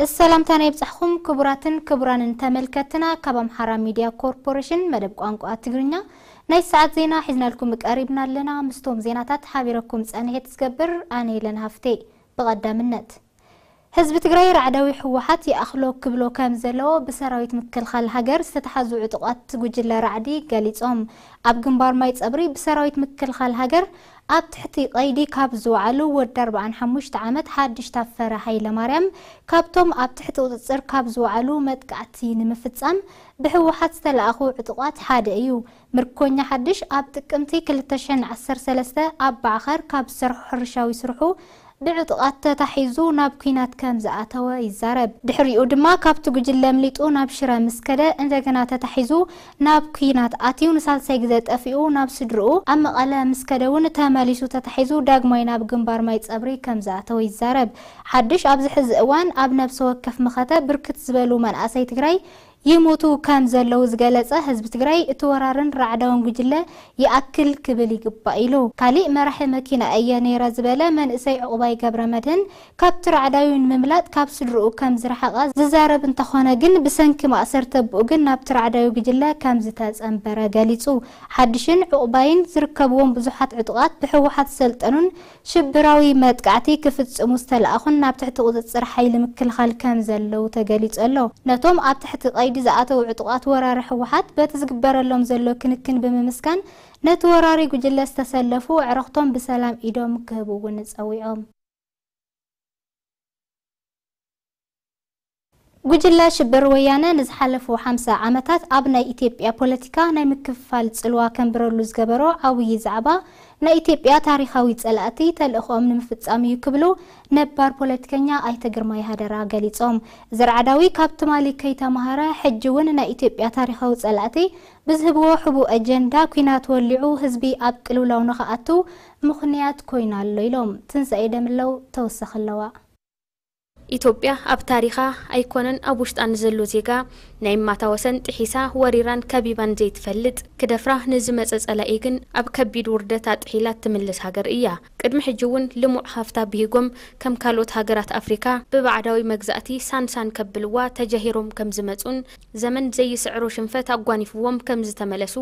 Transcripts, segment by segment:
ሰላምታና ይብጻሕኹም ክቡራትን ክቡራንን ተመልከትና፣ ካብ ኣምሓራ ሚድያ ኮርፖሬሽን መደብ ቋንቋ ትግርኛ ናይ ሰዓት ዜና ሒዝናልኩም ቀሪብና ኣለና። ምስቶም ዜናታት ሓቢረኩም ጸንሔት ዝገብር ኣነ የለን ሃፍቴ። ብቐዳምነት፣ ህዝቢ ትግራይ ራዕዳዊ ህወሓት ይኣኽሎ ክብሎ ከም ዘለዎ ብሰራዊት ምክልኻል ሃገር ዝተታሕዙ ዕጡቓት ጉጅለ ራዕዲ ገሊጾም። ኣብ ግንባር ማይ ጸብሪ ብሰራዊት ምክልኻል ሃገር ኣብ ትሕቲ ቀይዲ ካብ ዝወዓሉ ወዲ ኣርባዓን ሓሙሽተ ዓመት ሓድሽ ታፈረ ሃይለማርያም ካብቶም ኣብ ትሕቲ ቁጽጽር ካብ ዝወዓሉ መጥቃዕቲ ንምፍጻም ብህወሓት ዝተለኣኹ ዕጡቓት ሓደ እዩ። ምርኮኛ ሓድሽ ኣብ ጥቅምቲ ክልተ ሽሕን ዓሰርተ ሰለስተ ኣብ ባዕኸር ካብ ዝሰርሖ ሕርሻዊ ስርሑ ብዕጡቓት ተታሒዙ ናብ ኲናት ከም ዝኣተወ ይዛረብ። ድሕሪኡ ድማ ካብቲ ጉጅለ ኣምሊጡ ናብ ሽረ ምስ ከደ እንደገና ተታሒዙ ናብ ኲናት ኣትዩ ንሳልሳይ ግዜ ጠፊኡ ናብ ስድርኡ ኣብ መቐለ ምስ ከደ እውን ተመሊሱ ተታሒዙ ዳግማይ ናብ ግንባር ማይ ጸብሪ ከም ዝኣተወ ይዛረብ። ሓድሽ ኣብዚ ሕዚ እዋን ኣብ ነብሰ ወከፍ መኸተ ብርክት ዝበሉ መናእሰይ ትግራይ ይሞቱ ከም ዘለዉ ዝገለጸ ህዝቢ ትግራይ፣ እቲ ወራርን ራዕዳውን ጉጅለ ይኣክል ክብል ይግባእ ኢሉ። ካሊእ መራሒ መኪና እየ ነይረ ዝበለ መንእሰይ ዕቑባይ ገብረ መድህን፣ ካብቲ ራዕዳዊ ንምምላጥ ካብ ስድርኡ ከም ዝረሓቐ ዝዛረብ እንተኾነ ግን፣ ብሰንኪ ማእሰርቲ ኣቦኡ ግን ናብቲ ራዕዳዊ ጉጅለ ከም ዝተጸንበረ ገሊጹ። ሓድሽን ዕቑባይን ዝርከብዎም ብዙሓት ዕጡቓት ብህወሓት ዝሰልጠኑን ሽብራዊ መጥቃዕቲ ክፍጽሙ ዝተለኣኹን ናብ ትሕቲ ቁጽጽር ሓይሊ ምክልኻል ከም ዘለዉ ተገሊጹ ኣሎ። ነቶም ኣብ ትሕቲ ቀይዲ ዝኣተዉ ዕጡቓት ወራሪ ህወሓት በቲ ዝግበረሎም ዘሎ ክንክን ብምምስጋን፣ ነቲ ወራሪ ጉጅለ ዝተሰለፉ ኣዕሩኽቶም ብሰላም ኢዶም ክህቡ እውን ጸዊዖም። ጉጅለ ሽብር ወያነ ንዝሓለፉ ሓምሳ ዓመታት ኣብ ናይ ኢትዮጵያ ፖለቲካ ናይ ምክፍፋል ጽልዋ ከንብረሉ ዝገበሮ ዓብዪ ዛዕባ፣ ናይ ኢትዮጵያ ታሪኻዊ ጸላእቲ ተልእኾኦም ንምፍጻም እዩ ክብሉ ነባር ፖለቲከኛ ኣይተ ግርማይ ሃደራ ገሊጾም። እዚ ራዕዳዊ ካብ ትማሊ ከይተማሃረ፣ ሕጂ እውን ናይ ኢትዮጵያ ታሪኻዊ ጸላእቲ ብዝህብዎ ሕቡእ ኣጀንዳ ኲናት ወሊዑ ህዝቢ ኣብ ቅልውላው ንኽኣቱ ምኽንያት ኮይኑ ኣሎ ኢሎም። ትንሳኤ ደምለው ተወሳኺ ኣለዋ። ኢትዮጵያ ኣብ ታሪኻ ኣይኮነን ኣብ ውሽጣ ንዘሎ ዜጋ ናይ ማታ ወሰን ጥሒሳ ወሪራን ከቢባን ዘይትፈልጥ፣ ክደፍራ ንዝመጸ ጸላኢ ግን ኣብ ከቢድ ውርደት ኣጥሒላ ትምልስ ሃገር እያ። ቅድሚ ሕጂ እውን ልሙዕ ሃፍታ ብሂጎም ከም ካልኦት ሃገራት ኣፍሪካ ብባዕዳዊ መግዛእቲ ሳንሳን ከብልዋ ተጀሂሮም ከም ዝመጹን ዘመን ዘይስዕሮ ሽንፈት ኣጓኒፍዎም ከም ዝተመለሱ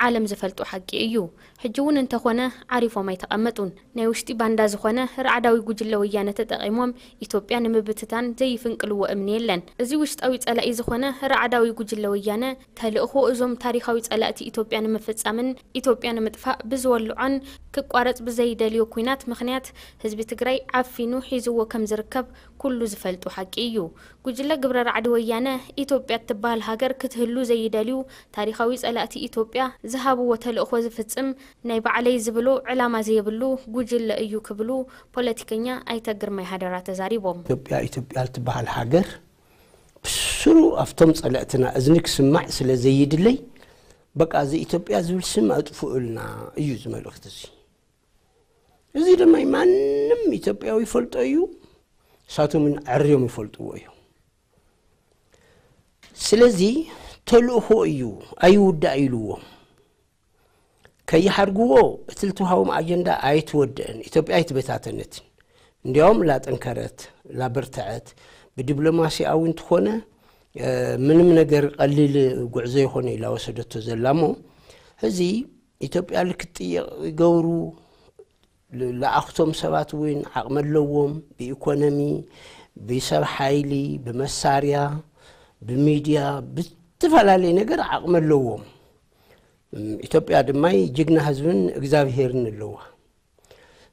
ዓለም ዝፈልጦ ሓቂ እዩ። ሕጂ እውን እንተኾነ ዓሪፎም ኣይተቐመጡን። ናይ ውሽጢ ባንዳ ዝኾነ ራዕዳዊ ጉጅለ ወያነ ተጠቒሞም ኢትዮጵያ ንምብትታን ዘይፍንቅልዎ እምኒ የለን። እዚ ውሽጣዊ ጸላኢ ዝኾነ ራዕዳዊ ጉጅለ ወያነ ተልእኾ እዞም ታሪኻዊ ጸላእቲ ኢትዮጵያ ንምፍጻምን ኢትዮጵያ ንምጥፋእ ብዝወልዖን ክቋረጽ ብዘይደልዮ ኲናት ምኽንያት ህዝቢ ትግራይ ዓፊኑ ሒዝዎ ከም ዝርከብ ኩሉ ዝፈልጦ ሓቂ እዩ። ጉጅለ ግብረ ራዕዲ ወያነ ኢትዮጵያ እትበሃል ሃገር ክትህሉ ዘይደልዩ ታሪኻዊ ጸላእቲ ኢትዮጵያ ዝሃብዎ ተልእኾ ዝፍጽም ናይ ባዕለይ ዝብሎ ዕላማ ዘየብሉ ጉጅለ እዩ ክብሉ ፖለቲከኛ ኣይተ ግርማይ ሃደራ ተዛሪቦም። ኢትዮጵያ፣ ኢትዮጵያ እትበሃል ሃገር ብስሩ ኣብቶም ጸላእትና እዝኒ ክስማዕ ስለ ዘይድለይ፣ በቃ እዚ ኢትዮጵያ ዝብል ስም ኣጥፍኡልና እዩ እዚ መልእኽቲ እዚ። እዚ ድማ ማንም ኢትዮጵያዊ ይፈልጦ እዩ፣ ንሳቶም እውን ኣዕርዮም ይፈልጥዎ እዩ። ስለዚ ተልእኾ እዩ፣ ኣይውዳእ ኢልዎም። ከይሓርግዎ እቲ ልትውሃቦም ኣጀንዳ ኣይትወድእን፣ ኢትዮጵያ ኣይትበታተነትን። እንዲያውም ላጠንከረት፣ ላበርተዐት፣ ብዲፕሎማሲያዊ እንተኾነ፣ እ፣ ምንም ነገር ቀሊል ጉዕዞ ይኾነ ኢላ ወሰደቶ ዘላ እሞ፣ ሕዚ ኢትዮጵያ ልክጥየቕ ይገብሩ፣ ል-፣ ለኣኽቶም ሰባት እውን ዓቕሚ ኣለዎም፣ ብኢኮኖሚ፣ ብሰብ ሓይሊ፣ ብመሳርያ፣ ብሚድያ፣ ብዝተፈላለየ ነገር ዓቕሚ ኣለዎም። እም፣ ኢትዮጵያ ድማ ጅግና ህዝብን እግዚኣብሄርን ኣለዋ።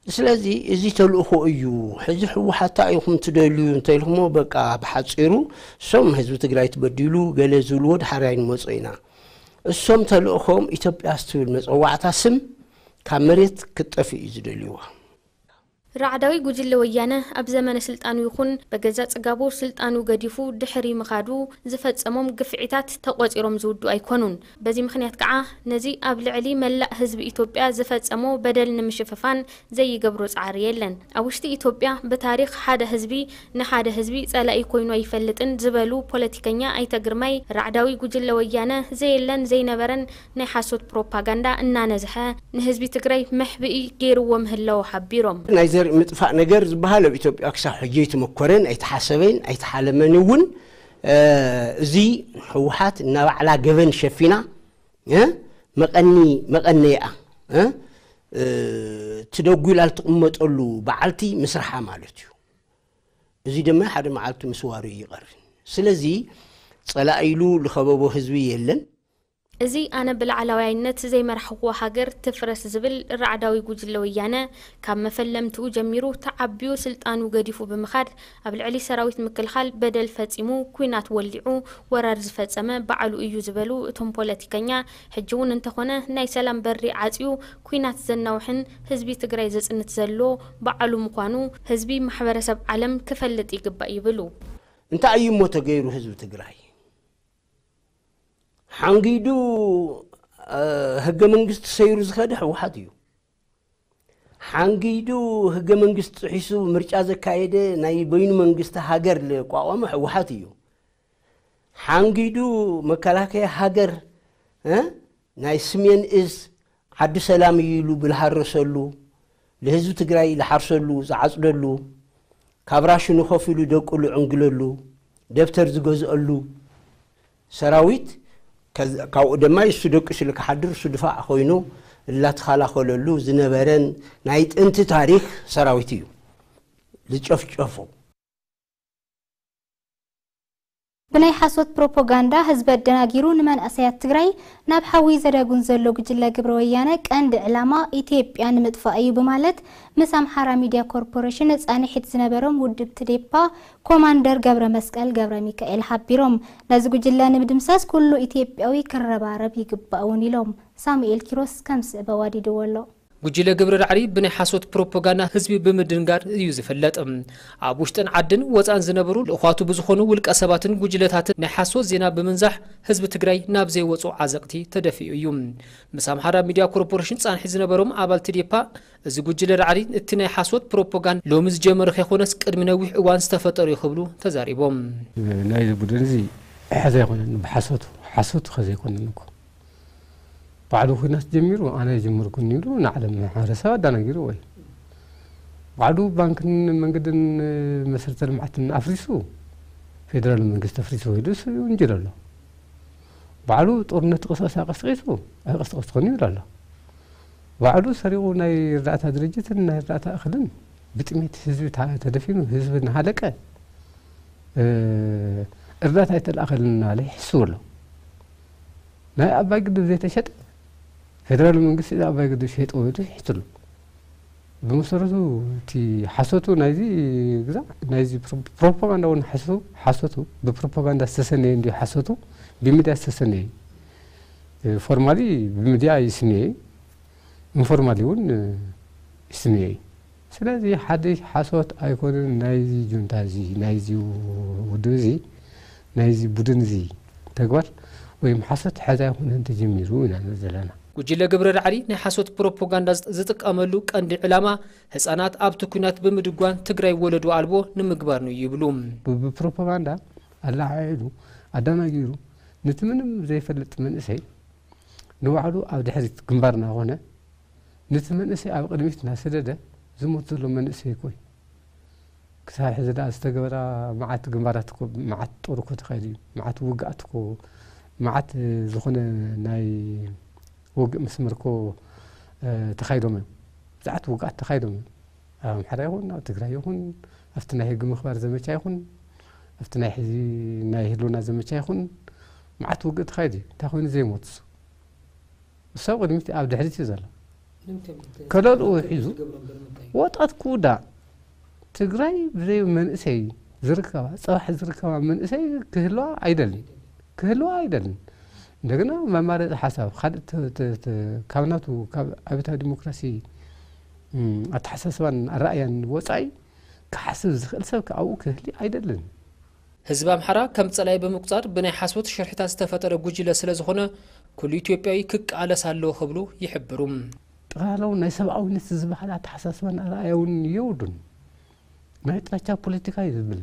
ስለዚ እዚ ተልእኾ እዩ። ሕዚ ህወሓት እንታይ ኢኹም ትደልዩ እንተኢልኩሞ፣ በቃ ብሓፂሩ እሶም ህዝቢ ትግራይ ትበዲሉ ገለ ዝብልዎ ድሓር ኣይንመጾ ኢና። እሶም ተልእኾም ኢትዮጵያ ዝትብል መጸዋዕታ ስም ካብ መሬት ክትጠፍእ እዩ ዝደልይዋ። ራዕዳዊ ጉጅለ ወያነ ኣብ ዘመነ ስልጣኑ ይኹን በገዛ ጽጋቡ ስልጣኑ ገዲፉ ድሕሪ ምኻዱ ዝፈጸሞም ግፍዒታት ተቖጺሮም ዝውዱ ኣይኮኑን። በዚ ምኽንያት ከዓ ነዚ ኣብ ልዕሊ መላእ ህዝቢ ኢትዮጵያ ዝፈጸሞ በደል ንምሽፍፋን ዘይገብሮ ጻዕሪ የለን። ኣብ ውሽጢ ኢትዮጵያ ብታሪኽ ሓደ ህዝቢ ንሓደ ህዝቢ ጸላኢ ኮይኑ ኣይፈልጥን ዝበሉ ፖለቲከኛ ኣይተ ግርማይ፣ ራዕዳዊ ጉጅለ ወያነ ዘየለን ዘይነበረን ናይ ሓሶት ፕሮፓጋንዳ እናነዝሐ ንህዝቢ ትግራይ መሕብኢ ገይርዎ ምህላዉ ሓቢሮም። ናይ ምጥፋእ ነገር ዝበሃል ኣብ ኢትዮጵያ ክሳብ ሕጂ ኣይተመኮረን፣ ኣይተሓሰበን፣ ኣይተሓለመን እውን። እዚ ህወሓት እናባዕላ ገበን ሸፊና መቐኒ መቐነይኣ ትደጉላ ልትቕመጠሉ በዓልቲ ምስርሓ ማለት እዩ። እዚ ድማ ሓደ መዓልቲ ምስዋሩ ይቐር። ስለዚ ጸላኢ ኢሉ ልኸበቦ ህዝቢ የለን። እዚ ኣነ ብላዕላዋይነት ዘይመራሕኹዋ ሃገር ትፍረስ ዝብል ራዕዳዊ ጉጅለ ወያነ ካብ መፈለምትኡ ጀሚሩ ተዓብዩ ስልጣኑ ገዲፉ ብምኻድ ኣብ ልዕሊ ሰራዊት ምክልኻል በደል ፈጺሙ ኲናት ወሊዑ ወራር ዝፈጸመ ባዕሉ እዩ ዝበሉ እቶም ፖለቲከኛ፣ ሕጂ እውን እንተኾነ ናይ ሰላም በሪ ዓጽዩ ኲናት ዘናውሕን ህዝቢ ትግራይ ዘጽንት ዘሎ ባዕሉ ምዃኑ ህዝቢ ማሕበረሰብ ዓለም ክፈልጥ ይግባእ ይብሉ። እንታይ እዩ እሞ ተገይሩ ህዝቢ ትግራይ? ሓንጊዱ ህገ መንግስቲ ሰይሩ ዝኸደ ህወሓት እዩ። ሓንጊዱ ህገ መንግስቲ ጥሒሱ ምርጫ ዘካየደ ናይ በይኑ መንግስቲ ሃገር ልቋቋመ ህወሓት እዩ። ሓንጊዱ መከላከያ ሃገር ናይ ስሜን እዝ ዓዲ ሰላም እዩ ኢሉ ብልሃረሰሉ፣ ልህዝቢ ትግራይ ልሓርሰሉ ዝዓፅደሉ፣ ካብ ራሽኑ ከፊሉ ደቁ ልዕንግለሉ፣ ደብተር ዝገዝአሉ ሰራዊት፣ ካብኡ ድማ እሱ ደቂሱ ልክሓድር እሱ ድፋዕ ኮይኑ እላተኸላኸለሉ ዝነበረን ናይ ጥንቲ ታሪክ ሰራዊት እዩ። ዝጨፍጨፎ ብናይ ሓሶት ፕሮፖጋንዳ ህዝቢ ኣደናጊሩ ንመንእሰያት ትግራይ ናብ ሓዊ ዘዳጉን ዘሎ ጉጅለ ግብረ ወያነ ቀንዲ ዕላማ ኢትዮጵያ ንምጥፋእ እዩ ብማለት ምስ ኣምሓራ ሚድያ ኮርፖሬሽን ፃንሒት ዝነበሮም ውድብ ትዴፓ ኮማንደር ገብረ መስቀል ገብረ ሚካኤል ሓቢሮም። ነዚ ጉጅለ ንምድምሳስ ኩሉ ኢትዮጵያዊ ክረባረብ ይግባእ እውን ኢሎም። ሳሙኤል ኪሮስ ከም ዝስዕብ ኣዋዲድዎ ኣሎ። ጉጅለ ግብረ ዳዕሪ ብናይ ሓሶት ፕሮፖጋንዳ ህዝቢ ብምድንጋር እዩ ዝፍለጥ። ኣብ ውሽጥን ዓድን ወፃእን ዝነበሩ ልእኳቱ ብዝኾኑ ውልቀ ሰባትን ጉጅለታትን ናይ ሓሶት ዜና ብምንዛሕ ህዝቢ ትግራይ ናብ ዘይወፁ ዓዘቕቲ ተደፊኡ እዩ። ምስ ኣምሓራ ሚድያ ኮርፖሬሽን ፃንሒ ዝነበሮም ኣባል ትዴፓ እዚ ጉጅለ ዳዕሪ እቲ ናይ ሓሶት ፕሮፖጋንዳ ሎሚ ዝጀመረ ከይኮነስ ቅድሚ ነዊሕ እዋን ዝተፈጠሩ እዩ ክብሉ ተዛሪቦም። ናይዚ ቡድን እዚ ሕዚ ኣይኮነን ብሓሶቱ ሓሶቱ ከዘይኮነን እኮ ባዕሉ ኲናት ጀሚሩ ኣነ ጀመርኩ ይብሉ ንዓለም ማሕበረሰብ ኣዳናጊሩ ወይ ባዕሉ ባንክን መንገድን መሰረተ ልምዓትን ኣፍሪሱ ፌደራል መንግስቲ ኣፍሪሱ ኢሉ ይውንጅል ኣሎ። ባዕሉ ጦርነት ቅስቀሳ ቀስቂሱ ኣይቀስቀስኩን ይብል ኣሎ። ባዕሉ ሰሪቑ ናይ እርዳእታ ድርጅትን ናይ እርዳእታ እኽልን ብጥሜት ህዝቢ ተደፊኑ ህዝቢ እናሃለቀ እርዳእታ ኣይተለኣኸልን እናበለ ይሕስው ኣሎ። ናይ ኣባይ ግድብ ዘይተሸጠ ፌደራል መንግስቲ ኣባይ ግድብ ሸይጠ ኢሉ ይሕስሉ። ብመሰረቱ እቲ ሓሶቱ ናይዚ ግዛዕ ናይዚ ፕሮፓጋንዳ እውን ሓሶቱ ሓሶቱ ብፕሮፓጋንዳ ዝተሰነየ እንዲዩ ሓሶቱ ብሚድያ ዝተሰነየ ፎርማሊ ብሚድያ ይስነየ ኢንፎርማሊ እውን ይስነየ እዩ። ስለዚ ሓድሽ ሓሶት ኣይኮነን ናይዚ ጁንታ እዚ ናይዚ ውድብ እዚ ናይዚ ቡድን እዚ ተግባር ወይም ሓሶት ሕዚ ኣይኮነን ተጀሚሩ ኢና ንብል ዘለና። ጉጅለ ግብረ ዳዕሪ ናይ ሓሶት ፕሮፖጋንዳ ዝጥቀመሉ ቀንዲ ዕላማ ህፃናት ኣብቲ ኲናት ብምድጓን ትግራይ ወለዶ ኣልቦ ንምግባር ነው ይብሉ። ብፕሮፓጋንዳ ኣላዓዒሉ ኣዳናጊሩ ነቲ ምንም ዘይፈልጥ መንእሰይ ንባዕሉ ኣብ ድሕሪት ግንባር እናኾነ ነቲ መንእሰይ ኣብ ቅድሚት እናሰደደ ዝሞት ዘሎ መንእሰይ እኮ እዩ። ክሳብ ሕዚ ደኣ ዝተገበራ መዓት ግንባራት እኮ መዓት ጦር እኮ ተኻይዱ እዩ። መዓት ውግኣት እኮ መዓት ዝኾነ ናይ ውግእ መስመር እኮ ተኻይዶም እዮም። ብዙሓት ውግኣት ተኻይዶም እዮም። ኣብ ኣምሓራ ይኹን ኣብ ትግራይ ይኹን ኣብቲ ናይ ሕጊ ምኽባር ዘመቻ ይኹን ኣብቲ ናይ ሕዚ ናይ ህልውና ዘመቻ ይኹን መዓት ውግእ ተኻይዱ እዩ። እንታይ ኮይኑ ዘይሞት እሱ? እሱ ኣብ ቅድሚት ኣብ ድሕሪት እዩ ዘሎ። ከለልኡ ሒዙ ወጣት ክውዳእ ትግራይ ብዘይ መንእሰይ ዝርከባ ፅባሕ ዝርከባ መንእሰይ ክህልዋ ኣይደልን ክህልዋ ኣይደልን። እንደገና መማረፂ ሓሳብ ካልእ ካብ ናቱ ካብ ኣብዮታዊ ዲሞክራሲ ኣተሓሳስባን ኣረኣእያን ወፃኢ ክሓስብ ዝኽእል ሰብ ኣብኡ ክህሊ ኣይደልን። ህዝቢ ኣምሓራ ከም ፀላኢ ብምቁፃር ብናይ ሓሶት ሽርሕታት ዝተፈጠረ ጉጅለ ስለዝኾነ ኩሉ ኢትዮጵያዊ ክቃለስ ኣለዎ ክብሉ ይሕብሩ። ጠቕላላውን ናይ ሰብኣውነት ዝበሃል ኣተሓሳስባን ኣረኣእያ እውን የውዱን። ናይ ጥላቻ ፖለቲካ እዩ ዝብል።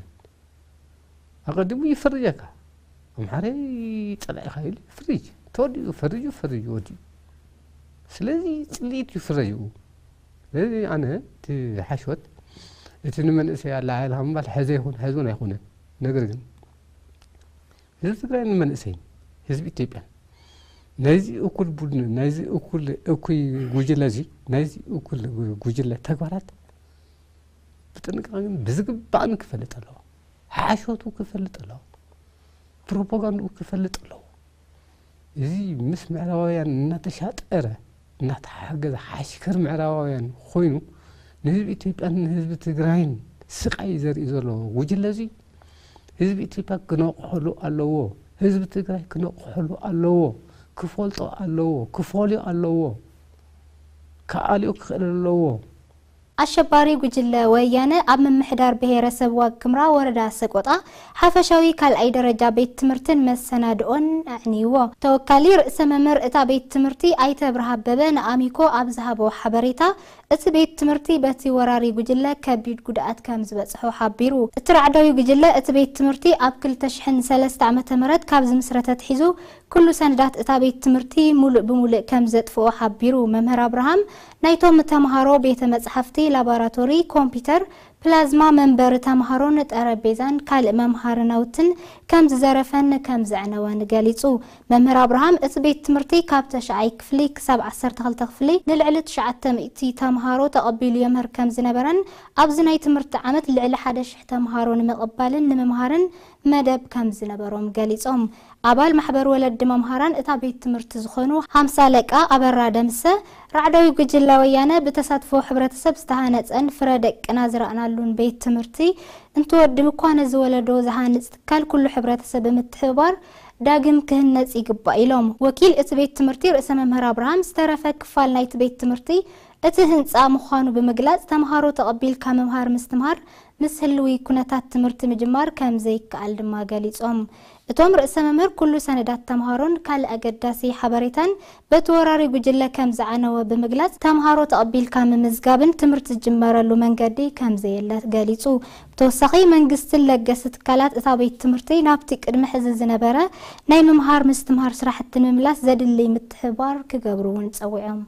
ኣቐዲሙ ይፈርጀካ። ኣምሓራይ ፀላኢኻ ኢሉ ይፍርጅ። ተወዲኡ ፈሪጁ ፈሪጁ ወዲኡ። ስለዚ ፅልኢት እዩ ፍረጅኡ። ስለዚ ኣነ እቲ ሓሽወት እቲ ንመንእሰይ ኣለዓዕልካ ምባል ሕዚ ይኹን ሕዚ እውን ኣይኮነን። ነገር ግን ህዝቢ ትግራይ ንመንእሰይ ህዝቢ ኢትዮጵያ ናይዚ እኩል ቡድን ናይዚ እኩል እኩይ ጉጅለ እዚ ናይዚ እኩል ጉጅለ ተግባራት ብጥንቃቐን ብዝግባእን ክፈልጥ ኣለዎ። ሓሾቱ ክፈልጥ ኣለዎ። ፕሮፓጋንድኡ ክፈልጥ ኣለዎ። እዚ ምስ ምዕራባውያን እናተሻጠረ እናተሓገዘ ሓሽከር ምዕራባውያን ኮይኑ ንህዝቢ ኢትዮጵያን ንህዝቢ ትግራይን ስቃይ ዘርኢ ዘሎ ጉጅለ እዚ ህዝቢ ኢትዮጵያ ክነቕሐሉ ኣለዎ። ህዝቢ ትግራይ ክነቕሐሉ ኣለዎ። ክፈልጦ ኣለዎ። ክፈልዮ ኣለዎ። ክኣልዮ ክኽእል ኣለዎ። ኣሸባሪ ጉጅለ ወያነ ኣብ ምምሕዳር ብሄረሰብ ዋግ ክምራ ወረዳ ሰቆጣ ሓፈሻዊ ካልኣይ ደረጃ ቤት ትምህርትን መሰናድኦን ኣዕንይዎ። ተወካሊ ርእሰ መምህር እታ ቤት ትምህርቲ ኣይተ ብርሃ ኣበበ ንኣሚኮ ኣብ ዝሃቦ ሓበሬታ፣ እቲ ቤት ትምህርቲ በቲ ወራሪ ጉጅለ ከቢድ ጉድኣት ከም ዝበጽሖ ሓቢሩ። እቲ ራዕዳዊ ጉጅለ እቲ ቤት ትምህርቲ ኣብ ክልተ ሽሕን ሰለስተ ዓመተ ምህረት ካብ ዝምስረት ኣትሒዙ ኩሉ ሰነዳት እታ ቤት ትምህርቲ ሙሉእ ብሙሉእ ከም ዘጥፍኦ ሓቢሩ። መምህር ኣብርሃም ናይቶም ተምሃሮ ቤተ መጽሓፍቲ፣ ላቦራቶሪ፣ ኮምፒውተር፣ ፕላዝማ፣ መንበሪ ተምሃሮን ጠረጴዛን ካልእ መምሃሪ ናውትን ከም ዝዘረፈን ከም ዘዕነወን ገሊጹ። መምህር ኣብርሃም እቲ ቤት ትምህርቲ ካብ ተሽዓይ ክፍሊ ክሳብ ዓሰርተ ክልተ ክፍሊ ንልዕሊ ትሽዓተ ሚእቲ ተምሃሮ ተቐቢሉ የምህር ከም ዝነበረን ኣብዚ ናይ ትምህርቲ ዓመት ልዕሊ ሓደ ሽሕ ተምሃሮ ንምቕባልን ንምምሃርን መደብ ከም ዝነበሮም ገሊጾም። ኣባል ማሕበር ወለዲ መምሃራን እታ ቤት ትምህርቲ ዝኾኑ ሃምሳ ኣለቃ ኣበራ ደምሰ፣ ራዕዳዊ ጉጅለ ወያነ ብተሳትፎ ሕብረተሰብ ዝተሃነጸን ፍረ ደቅና ዝረኣናሉን ቤት ትምህርቲ እንትወድም እኳ ነዚ ወለዶ ዝሃንጽ ትካል ኩሉ ሕብረተሰብ ብምትሕብባር ዳግም ክህነጽ ይግባእ ኢሎም። ወኪል እቲ ቤት ትምህርቲ ርእሰ መምህር ኣብርሃም ዝተረፈ ክፋል ናይቲ ቤት ትምህርቲ እቲ ህንጻ ምዃኑ ብምግላጽ ተምሃሮ ተቐቢልካ ምምሃር ምስትምሃር ምስ ህልዊ ኩነታት ትምህርቲ ምጅማር ከም ዘይከኣል ድማ ገሊጾም። እቶም ርእሰ መምህር ኩሉ ሰነዳት ተምሃሮን ካልእ ኣገዳሲ ሓበሬታን በቲ ወራሪ ጉጅለ ከም ዝዓነወ ብምግላጽ ተምሃሮ ተቐቢልካ ምምዝጋብን ትምህርቲ ዝጅመረሉ መንገዲ ከም ዘየለ ገሊጹ። ብተወሳኺ መንግስትን ለገስቲ ትካላት እታ ቤት ትምህርቲ ናብቲ ቅድሚ ሕዚ ዝነበረ ናይ ምምሃር ምስትምሃር ስራሕቲ ንምምላስ ዘድሊ ምትሕብባር ክገብሩ እውን ጸዊዖም።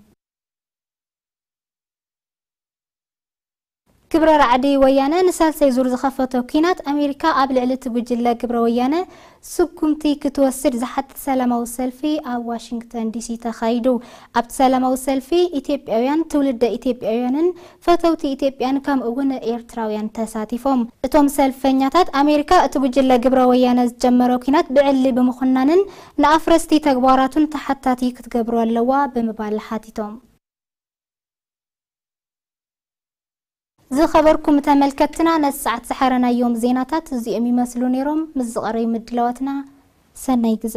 ግብረ ራዕዲ ወያነ ንሳልሳይ ዙር ዝኸፈቶ ኲናት ኣሜሪካ ኣብ ልዕሊ እቲ ጉጅለ ግብረ ወያነ ስጉምቲ ክትወስድ ዝሓትት ሰላማዊ ሰልፊ ኣብ ዋሽንግተን ዲሲ ተኻይዱ። ኣብቲ ሰላማዊ ሰልፊ ኢትዮጵያውያን፣ ትውልደ ኢትዮጵያውያንን ፈተውቲ ኢትዮጵያን ከምኡ እውን ኤርትራውያን ተሳቲፎም። እቶም ሰልፈኛታት ኣሜሪካ እቲ ጉጅለ ግብረ ወያነ ዝጀመሮ ኲናት ብዕሊ ብምኹናንን ንኣፍረስቲ ተግባራቱን ተሓታቲ ክትገብሮ ኣለዋ ብምባል ሓቲቶም። ዝኸበርኩም ተመልከትና ነዚ ሰዓት ዝሓረናዮም ዜናታት እዚኦም ይመስሉ ነይሮም። ምስ ዝቐረዩ ምድላዋትና ሰናይ ግዘ።